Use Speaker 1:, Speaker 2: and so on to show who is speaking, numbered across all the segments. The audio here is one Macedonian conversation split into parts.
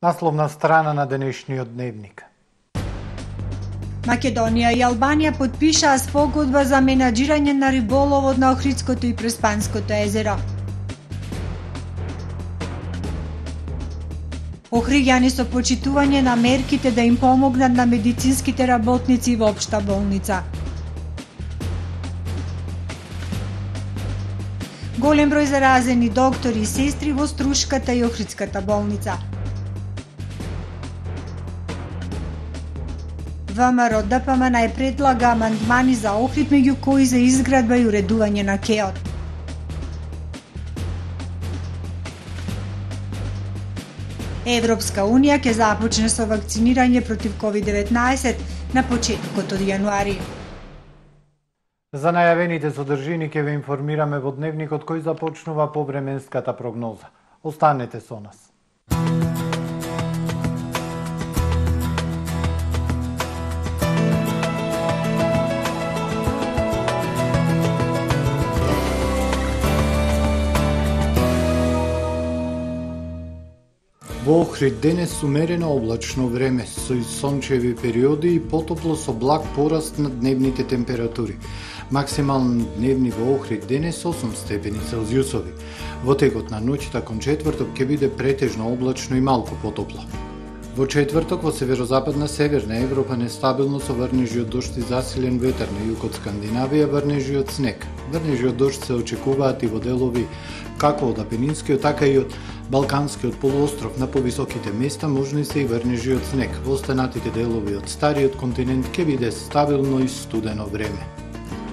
Speaker 1: Насловна страна на денешниот дневник.
Speaker 2: Македонија и Албанија потпишаа спогодба за менаџирање на риболовот на Охридското и Преспанското езеро. Охриѓани со почитување на мерките да им помогнат на медицинските работници во општа болница. Голем број заразени доктори и сестри во Струшката и Охридската болница. ВМРО ДПМН е предлага амандмани за Охрид, меѓу кои за изградба и уредување на кеот. Европска Унија ќе започне со вакцинирање против COVID-19 на почетокот од јануари.
Speaker 1: За најавените содржини ќе ве информираме во дневникот кој започнува повременската прогноза. Останете со нас. Во Охрид денес умерено облачно време со сончеви периоди и потопло со благ пораст на дневните температури. Максимални дневни во Охрид денес 8 степени Целзиусови. Во текот на ноќта кон четврток ќе биде претежно облачно и малку потопло. Во четврток во северозападна Северна Европа нестабилно со врнежи од дожд и засилен ветер, на југ од Скандинавија врнежи од снег. Врнежи од дожд се очекуваат и во делови како од Апенинскиот, така и од Балканскиот полуостров. На повисоките места можни се и врнежи од снег. Во останатите делови од стариот континент ќе биде стабилно и студено време.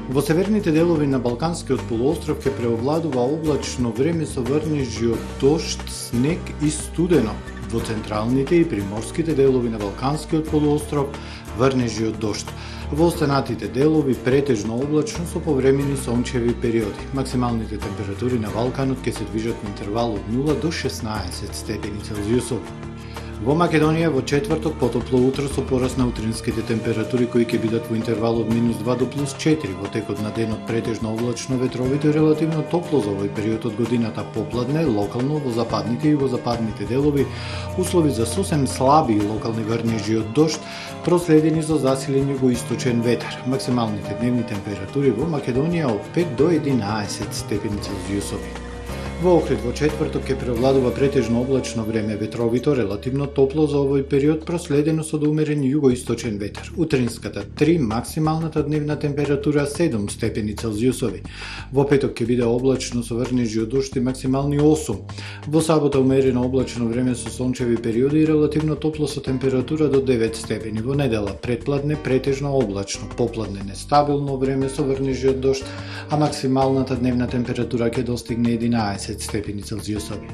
Speaker 1: Во северните делови на Балканскиот полуостров ќе преовладува облачно време со врнежи од дожд, снег и студено. Во централните и приморските делови на Балканскиот полуостров врнежи од дожд. Во останатите делови претежно облачно со повремени сончеви периоди. Максималните температури на Балканот ќе се движат во интервал од 0 до 16 степени Целзиусови. Во Македонија во четврток потопло утро со пораст на утринските температури кои ќе бидат во интервал од -2 до +4. Во текот на денот претежно облачно, ветровите релативно топло за овој период од годината, попладне, локално во западните и югозападните делови, услови за сосем слаби и локални врнежи од дожд, проследени со засилен југоисточен ветер. Максималните дневни температури во Македонија од 5 до 11 степени Целзиусови. Во Охрид во четврток ќе преовладува претежно облачно време, ветровито релативно топло за овој период, проследено со умерен југоисточен ветер. Утринската 3, максималната дневна температура 7 степени Целзиусови. Во петок ќе биде облачно со врнежи од дожд и максимални 8. Во сабота умерено облачно време со сончеви периоди и релативно топло со температура до 9 степени. Во недела претпладне претежно облачно, попладне нестабилно време со врнежи од дожд, а максималната дневна температура ќе достигне 11 степени Целзиусови.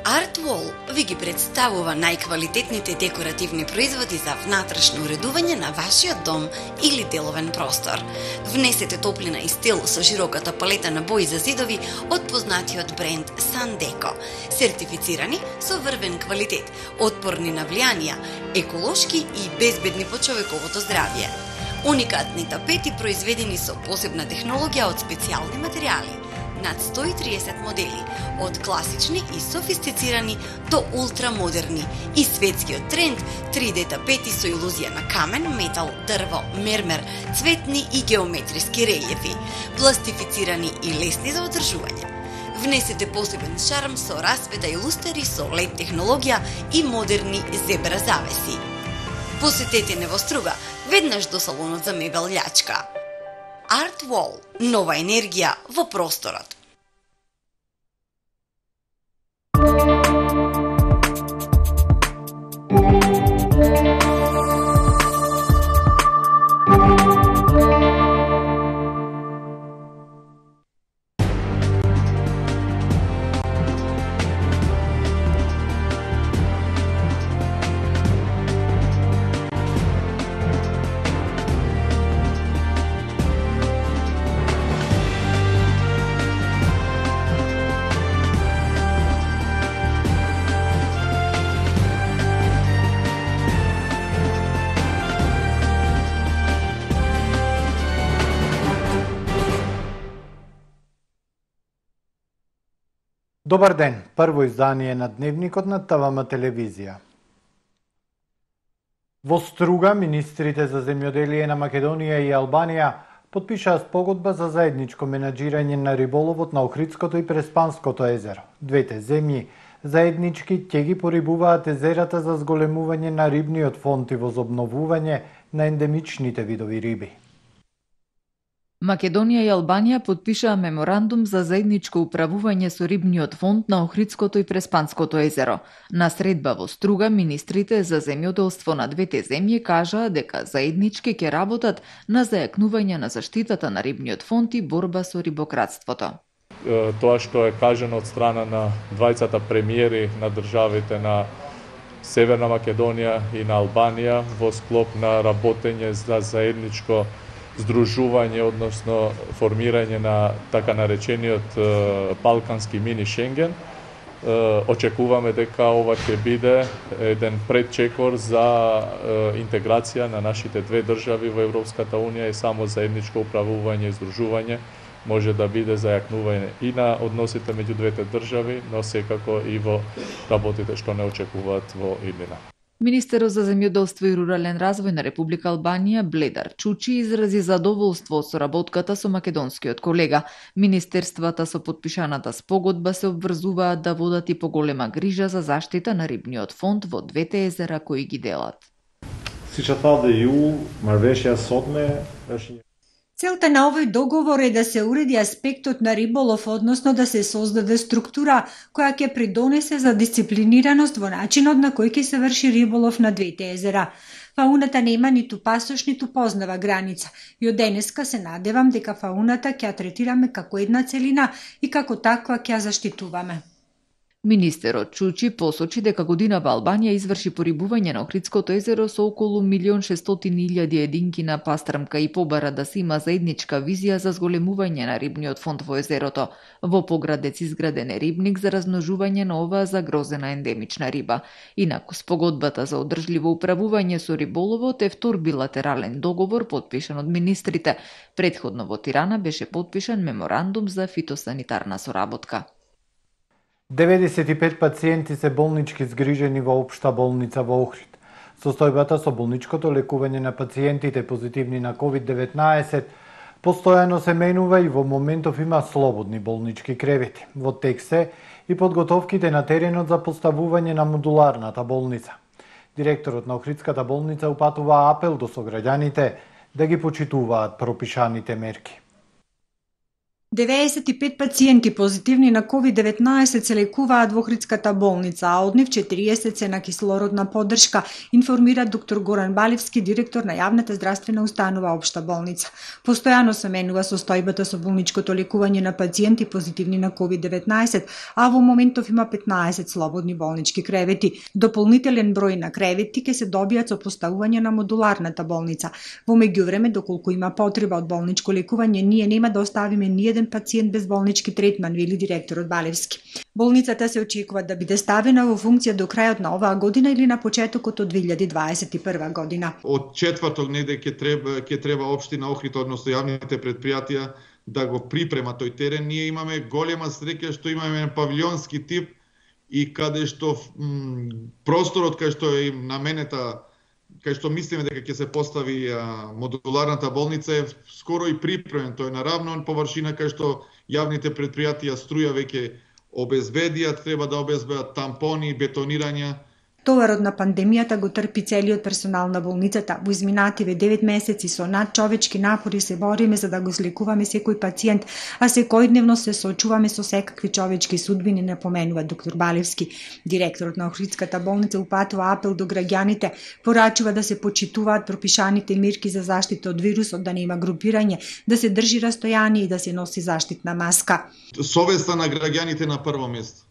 Speaker 3: Артвол ви ги представува најквалитетните декоративни производи за внатрешно уредување на вашиот дом или деловен простор. Внесете топлина и стил со широката палета на бои за зидови од познатиот бренд Sandeko, сертифицирани со врвен квалитет, отпорни на влијанија, еколошки и безбедни по човековото здравје. Уникатни тапети произведени со посебна технологија од специјални материјали. Над 130 модели, од класични и софистицирани до ултрамодерни и светскиот тренд 3D тапети со илузија на камен, метал, дрво, мермер, цветни и геометриски релјефи, пластифицирани и лесни за одржување. Внесете посебен шарм со расвета и лустери со LED технологија и модерни зебра завеси. Посетете не во Струга, веднаш до салонот за мебел Љачка. Артвол, нова енергија во просторот.
Speaker 1: Добар ден, прво издание на Дневникот на ТВМ телевизија. Во Струга, министрите за земјоделие на Македонија и Албанија потпишаа спогодба за заедничко менаџирање на риболовот на Охридското и Преспанското езеро. Двете земји заеднички ќе ги порибуваат езерата за зголемување на рибниот фонд и возобновување на ендемичните видови риби.
Speaker 4: Македонија и Албанија потпишаа меморандум за заедничко управување со рибниот фонд на Охридското и Преспанското езеро. На средба во Струга, министрите за земјоделство на двете земји кажаа дека заеднички ќе работат на зајакнување на заштитата на рибниот фонд и борба со рибократството.
Speaker 5: Тоа што е кажано од страна на двајцата премиери на државите на Северна Македонија и на Албанија во склоп на работење за заедничко здружување, односно формирање на така наречениот Балкански мини Шенген. Очекуваме дека ова ќе биде еден предчекор за интеграција на нашите две држави во Европската Унија и само заедничко управување и здружување може да биде зајакнување и на односите меѓу двете држави, но секако и во работите што не очекуваат во иднина.
Speaker 4: Министерот за земјоделство и рурален развој на Република Албанија Бледар Чучи изрази задоволство од соработката со македонскиот колега. Министерствата со потпишаната спогодба се обврзуваат да водат и поголема грижа за заштита на рибниот фонд во двете езера кои ги делат.
Speaker 2: Целта на овој договор е да се уреди аспектот на риболов, односно да се создаде структура која ќе придонесе за дисциплинираност во начинот на кој ќе се врши риболов на двете езера. Фауната нема ниту пасош, ниту познава граница. И од денеска се надевам дека фауната ќе ја третираме како една целина и како таква ќе ја заштитуваме.
Speaker 4: Министерот Чучи посочи дека годинава Албанија изврши порибување на Охридското езеро со околу 1.600.000 единки на пастрмка и побара да се има заедничка визија за зголемување на рибниот фонд во езерото. Во Поградец изграден е рибник за размножување на оваа загрозена ендемична риба. Инаку спогодбата за одржливо управување со риболовот е втор билатерален договор потпишан од министрите. Претходно во Тирана беше потпишан меморандум за фитосанитарна соработка.
Speaker 1: 95 пациенти се болнички згрижени во општа болница во Охрид. Состојбата со болничкото лекување на пациентите позитивни на COVID-19 постојано се менува и во моментов има слободни болнички кревети. Во тек се и подготовките на теренот за поставување на модуларната болница. Директорот на Охридската болница упатува апел до сограѓаните да ги почитуваат пропишаните мерки.
Speaker 2: 95 пациенти позитивни на COVID-19 се лекуваат во Охридската болница, а од нив 40 се на кислородна поддршка, информира доктор Горан Балевски, директор на јавната здравствена установа Општа болница. Постојано се менува состојбата со болничкото лекување на пациенти позитивни на COVID-19, а во моментов има 15 слободни болнички кревети. Дополнителен број на кревети ќе се добијат со поставување на модуларната болница. Во меѓувреме, доколку има потреба од болничко лекување, ние нема да оставиме ниеден пациент без болнички третман, вели директорот Балевски. Болницата се очекува да биде ставена во функција до крајот на оваа година или на почетокот од 2021 година.
Speaker 6: Од четврток неде ќе треба општина Охрид, односно јавните предпријатија да го припрема тој терен. Ние имаме голема среќа што имаме павилионски тип и каде што просторот кај што е наменета, кај што мислиме дека ќе се постави модуларната болница е скоро и припремен. Тој на равна површина кај што јавните предпријатија струја веќе обезбедија, треба да обезбедат тампони, бетонирања.
Speaker 2: Товарот на пандемијата го трпи целиот персонал на болницата. Во изминативе 9 месеци со надчовечки напори се бориме за да го злекуваме секој пациент, а секојдневно се соочуваме со секакви човечки судбини, напоменува доктор Балевски. Директорот на Охридската болница упатува апел до граѓаните, порачува да се почитуваат пропишаните мерки за заштита од вирусот, да нема групирање, да се држи растојание и да се носи заштитна маска.
Speaker 6: Совеста на граѓаните на прво место.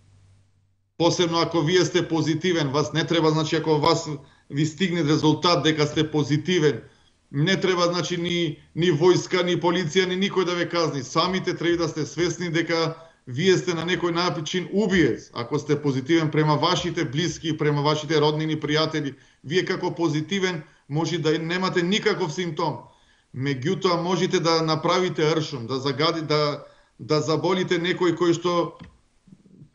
Speaker 6: Посебно ако вие сте позитивен, вас не треба, значи ако вас ви стигне резултат дека сте позитивен, не треба, значи ни војска, ни полиција, ни никој да ве казни. Самите треба да сте свесни дека вие сте на некој начин убиец. Ако сте позитивен према вашите блиски, према вашите роднини, пријатели, вие како позитивен може да немате никаков симптом. Меѓутоа можете да направите ршум, да заболите некој кој што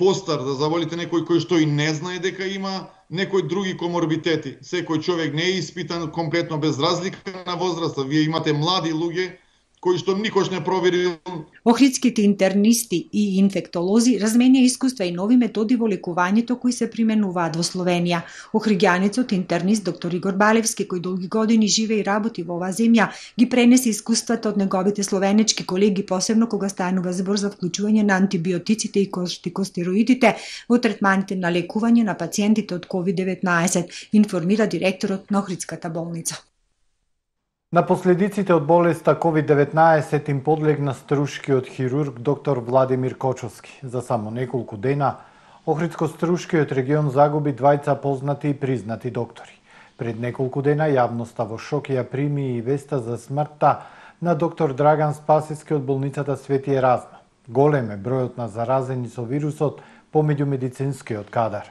Speaker 6: постар, да заболите некој кој што и не знае дека има некои други коморбитети. Секој човек не е испитан комплетно без разлика на возраста. Вие имате млади луѓе кои што никош не проверил.
Speaker 2: Охридските интернисти и инфектолози разменија искуства и нови методи во лекувањето кои се применуваат во Словенија. Охриѓанецот интернист доктор Игор Балевски, кој долги години живее и работи во оваа земја, ги пренесе искуствата од неговите словенечки колеги, посебно кога станува збор за вклучување на антибиотиците и кортикостероидите во третманите на лекување на пациентите од COVID-19, информира директорот на Охридската болница.
Speaker 1: На последиците од болеста COVID-19 им подлегна струшкиот хирург доктор Владимир Кочовски. За само неколку дена Охридско-струшкиот регион загуби двајца познати и признати доктори. Пред неколку дена јавноста во шок ја прими и веста за смртта на доктор Драган Спасиски од болницата Свети Еразма. Голем е бројот на заразени со вирусот помеѓу медицинскиот кадар.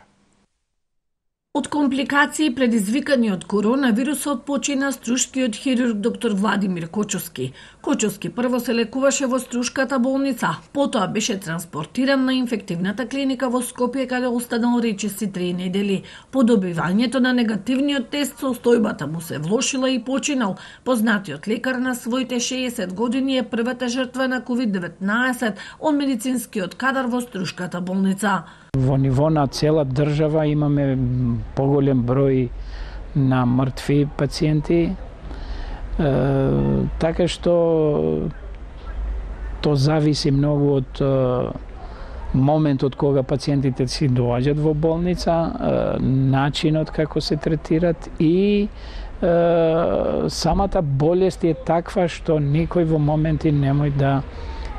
Speaker 7: Од компликации предизвикани од коронавирусот почина струшкиот хирург доктор Владимир Кочовски. Кочовски прво се лекуваше во Струшката болница, потоа беше транспортиран на инфективната клиника во Скопје, каде останал речиси 3 недели. По добивањето на негативниот тест состојбата му се влошила и починал. Познатиот лекар на своите 60 години е првата жртва на COVID-19 од медицинскиот кадар во Струшката болница.
Speaker 8: Во ниво на цела држава имаме поголем број на мртви пациенти, така што то зависи многу од моментот кога пациентите си доаѓаат во болница, начинот како се третират и самата болест е таква што некој во моменти немој да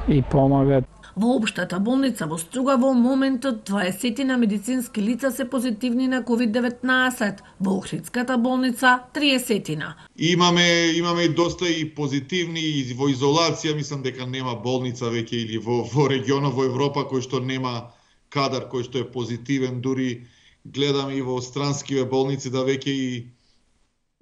Speaker 8: и помагат.
Speaker 7: Во општата болница во Струга во моментот 20 на медицински лица се позитивни на COVID-19, во Охридската болница 30.
Speaker 6: Имаме доста и позитивни и во изолација, мислам дека нема болница веќе или во регионот во Европа кој што нема кадар кој што е позитивен, дури гледам и во странскиве болници да веќе и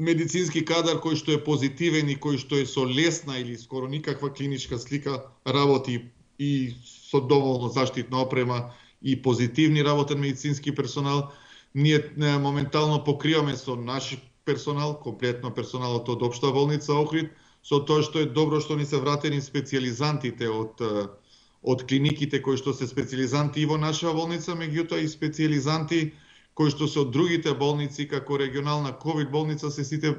Speaker 6: медицински кадар кој што е позитивен и кој што е со лесна или скоро никаква клиничка слика работи и со доволно заштитна опрема и позитивни работен медицински персонал. Ние моментално покриваме со наш персонал, комплетно персоналот од општа болница Охрид, со тоа што е добро што ни се вратени специјализантите од клиниките кои што се специјализанти и во наша болница, меѓутоа и специјализанти кои што се од другите болници, како регионална ковид болница, се сите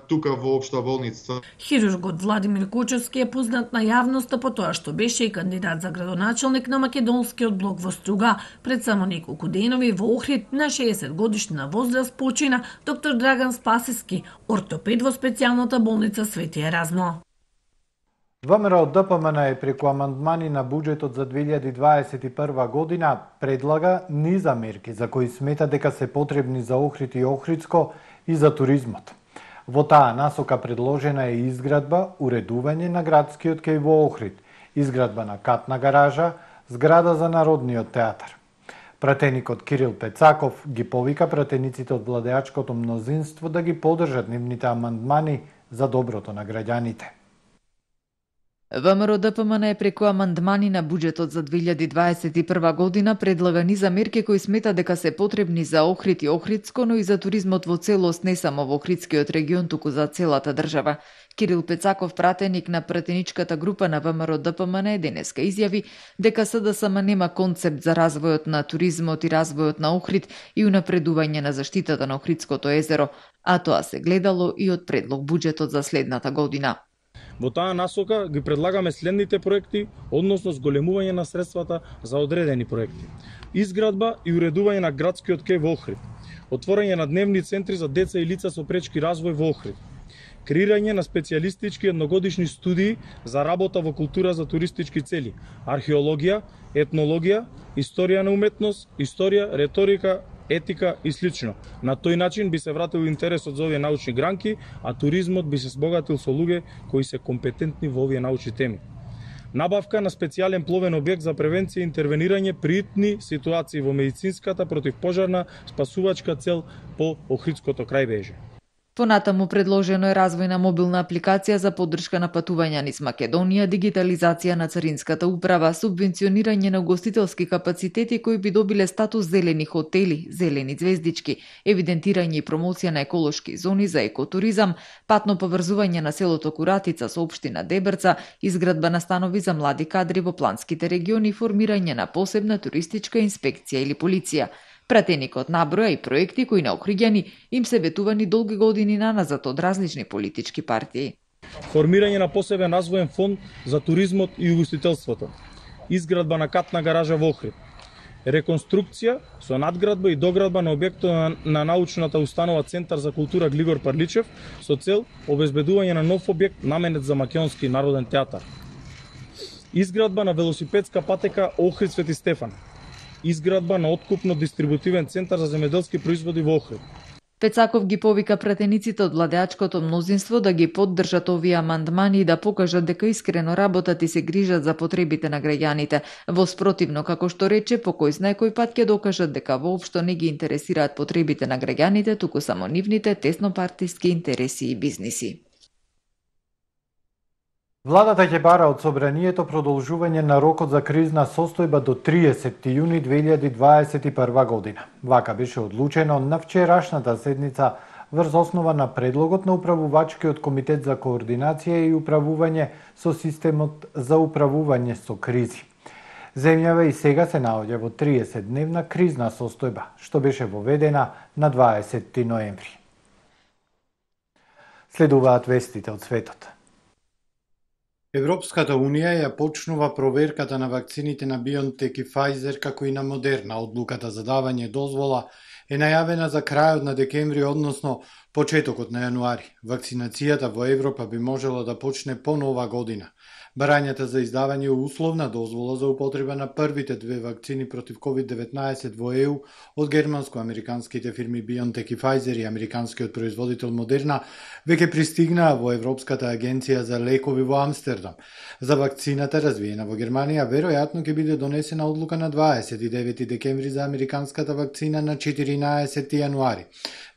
Speaker 6: тука во општа болница.
Speaker 7: Хирургот Владимир Кочовски е познат на јавноста по тоа што беше и кандидат за градоначелник на македонскиот блок во Струга. Пред само неколку денови во Охрид на 60 годишна возраст почина доктор Драган Спасиски, ортопед во специјалната болница Свети Еразмо.
Speaker 1: ВМРО ДПМН преку амандмани на буџетот за 2021 година предлага низа мерки за кои смета дека се потребни за Охрид и Охридско и за туризмот. Во таа насока предложена е изградба, уредување на градскиот кеј во Охрид, изградба на катна гаража, зграда за Народниот театар. Пратеникот Кирил Пецаков ги повика пратениците од владеачкото мнозинство да ги поддржат нивните амандмани за доброто на граѓаните.
Speaker 4: ВМРО ДПМН преку амандмани на буџетот за 2021 година предлага низа мерки кои смета дека се потребни за Охрид и Охридско, но и за туризмот во целост, не само во Охридскиот регион, туку за целата држава. Кирил Пецаков, пратеник на пратеничката група на ВМРО ДПМН, денеска изјави дека СДСМ нема концепт за развојот на туризмот и развојот на Охрид и унапредување на заштитата на Охридското езеро, а тоа се гледало и од предлог буџетот за следната година.
Speaker 9: Во таа насока ги предлагаме следните проекти, односно зголемување на средствата за одредени проекти. Изградба и уредување на градскиот кеј во Охрид. Отворање на дневни центри за деца и лица со пречки развој во Охрид. Креирање на специјалистички едногодишни студии за работа во култура за туристички цели, археологија, етнологија, историја на уметност, историја, реторика, етика и слично. На тој начин би се вратил интересот за овие научни гранки, а туризмот би се збогатил со луѓе кои се компетентни во овие научни теми. Набавка на специјален пловен објект за превенција и интервенирање при итни ситуации во медицинската противпожарна спасувачка цел по Охридското крајбрежје.
Speaker 4: Понатаму предложено е развој на мобилна апликација за поддршка на патувања низ Македонија, дигитализација на царинската управа, субвенционирање на угостителски капацитети кои би добиле статус зелени хотели, зелени звездички, евидентирање и промоција на еколошки зони за екотуризам, патно поврзување на селото Куратица со општина Дебрца, изградба на станови за млади кадри во планските региони, формирање на посебна туристичка инспекција или полиција. Пратеникот наброја и проекти кои на Охриѓани им се ветувани долги години наназад од различни политички партии.
Speaker 9: Формирање на посебен развоен фонд за туризмот и угостителството, изградба на катна гаража во Охрид, реконструкција со надградба и доградба на објектот на научната установа Центар за култура Глигор Парличев со цел обезбедување на нов објект наменет за македонски народен театар. Изградба на велосипедска патека Охрид Свети Стефан. Изградба на откупно-дистрибутивен центар за земјоделски производи во Охрид.
Speaker 4: Пецаков ги повика пратениците од владеачкото мнозинство да ги поддржат овие амандмани и да покажат дека искрено работат и се грижат за потребите на граѓаните. Во спротивно, како што рече, по кој знае кој пат ќе докажат дека воопшто не ги интересираат потребите на граѓаните, туку само нивните теснопартиски интереси и бизниси.
Speaker 1: Владата ќе бара од собранието продолжување на рокот за кризна состојба до 30 јуни 2021 година. Вака беше одлучено на вчерашната седница врз основа на предлогот на управувачкиот комитет за координација и управување со системот за управување со кризи. Земјава и сега се наоѓа во 30-дневна кризна состојба, што беше воведена на 20 ноември. Следуваат вестите од светот. Европската Унија ја почнува проверката на вакцините на BioNTech и Pfizer како и на Модерна. Одлуката за давање дозвола е најавена за крајот на декември, односно почетокот на јануари. Вакцинацијата во Европа би можела да почне по нова година. Барањата за издавање условна дозвола за употреба на првите две вакцини против COVID-19 во ЕУ од германско-американските фирми BioNTech и Pfizer и американскиот производител Модерна веќе пристигнаа во Европската агенција за лекови во Амстердам. За вакцината развиена во Германија веројатно ќе биде донесена одлука на 29 декември за американската вакцина на 14 јануари.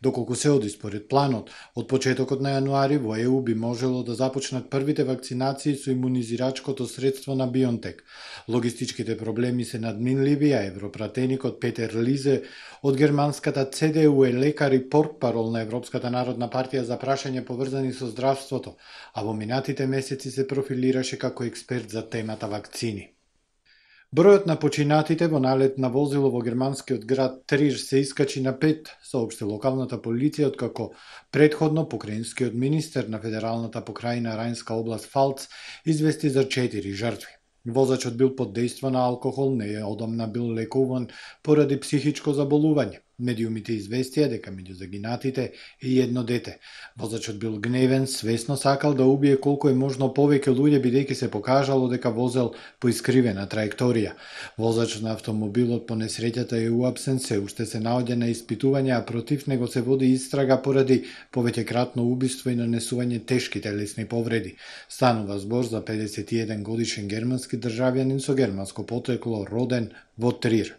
Speaker 1: Доколку се оди според планот, од почетокот на јануари во ЕУ би можело да започнат првите вакцинации со имунизирачкото средство на BioNTech. Логистичките проблеми се надминливи, а европратеникот Петер Лизе од германската CDU е лекар и портпарол на Европската народна партија за прашања поврзани со здравството, а во минатите месеци се профилираше како експерт за темата вакцини. Бројот на починатите во налет на возило во германскиот град Трир се искачи на 5, соопшти локалната полиција, откако предходно покраинскиот министер на федералната покрајна Рајнска област Фалц извести за 4 жртви. Возачот бил под дејство на алкохол, неодамна бил лекуван поради психичко заболување. Медиумите известија дека меѓу загинатите е и едно дете. Возачот бил гневен, свесно сакал да убие колку е можно повеќе луѓе, бидејќи се покажало дека возел по искривена траекторија. Возачот на автомобилот по несреќата е уапсен, се уште се наоѓа на испитување, а против него се води истрага поради повеќекратно убиство и нанесување тешки телесни повреди. Станува збор за 51 годишен германски државјанин со германско потрекло, роден во Трир.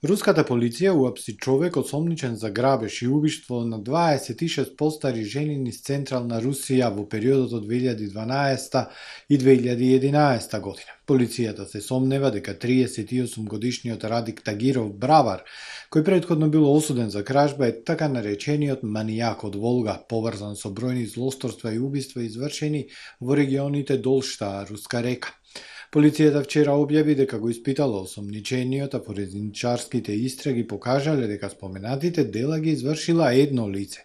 Speaker 1: Руската полиција уапси човек осомничен за грабеж и убиство на 26 постари жени низ централна Русија во периодот од 2012 и 2011 година. Полицијата се сомнева дека 38-годишниот Радик Тагиров Бравар, кој предходно бил осуден за кражба, е така наречениот манијак од Волга, поврзан со бројни злосторства и убиства извршени во регионите Долшта, Руска река. Полицијата вчера објави дека го испитала осомничениот, а форензичарските истраги покажале дека споменатите дела ги извршила едно лице.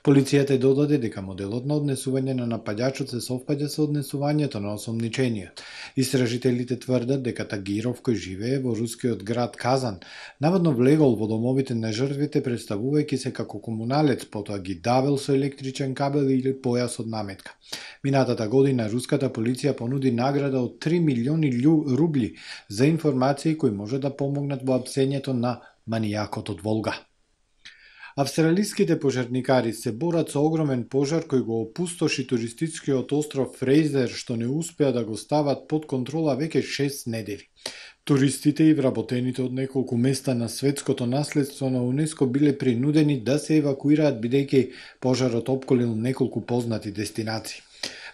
Speaker 1: Полицијата додаде дека моделот на однесување на нападачот се совпаѓа со однесувањето на осомничениот. Истражителите тврдат дека Тагиров, кој живее во рускиот град Казан, наводно влегол во домовите на жртвите представувајќи се како комуналец, потоа ги давел со електричен кабел или појас од наметка. Минатата година руската полиција понуди награда од 3 милиони рубли за информации кои може да помогнат во апсењето на манијакот од Волга. Австралиските пожарникари се борат со огромен пожар кој го опустоши туристичкиот остров Фрейзер, што не успеа да го стават под контрола веќе 6 недели. Туристите и вработените од неколку места на светското наследство на УНЕСКО биле принудени да се евакуираат бидејќи пожарот опколил неколку познати дестинации.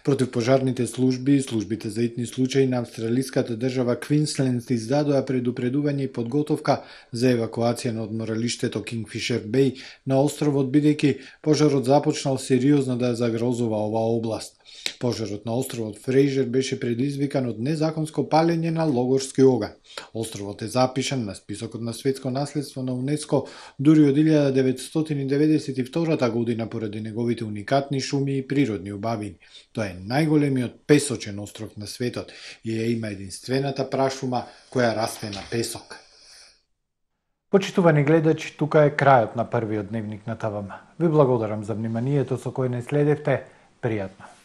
Speaker 1: Противпожарните служби и службите за итни случаи на австралиската држава Квинсленд издадоа предупредување и подготовка за евакуација на одморалиштето Кингфишер Беј на островот бидејќи пожарот започнал сериозно да загрозува оваа област. Пожарот на островот Фрейжер беше предизвикан од незаконско палење на логорски оган. Островот е запишан на списокот на светско наследство на УНЕСКО дури од 1992 година поради неговите уникатни шуми и природни убавини. Тоа е најголемиот песочен остров на светот и има единствената прашума која расте на песок. Почитувани гледачи, тука е крајот на првиот дневник на ТВМ. Ви благодарам за вниманието со кое не следевте. Пријатно.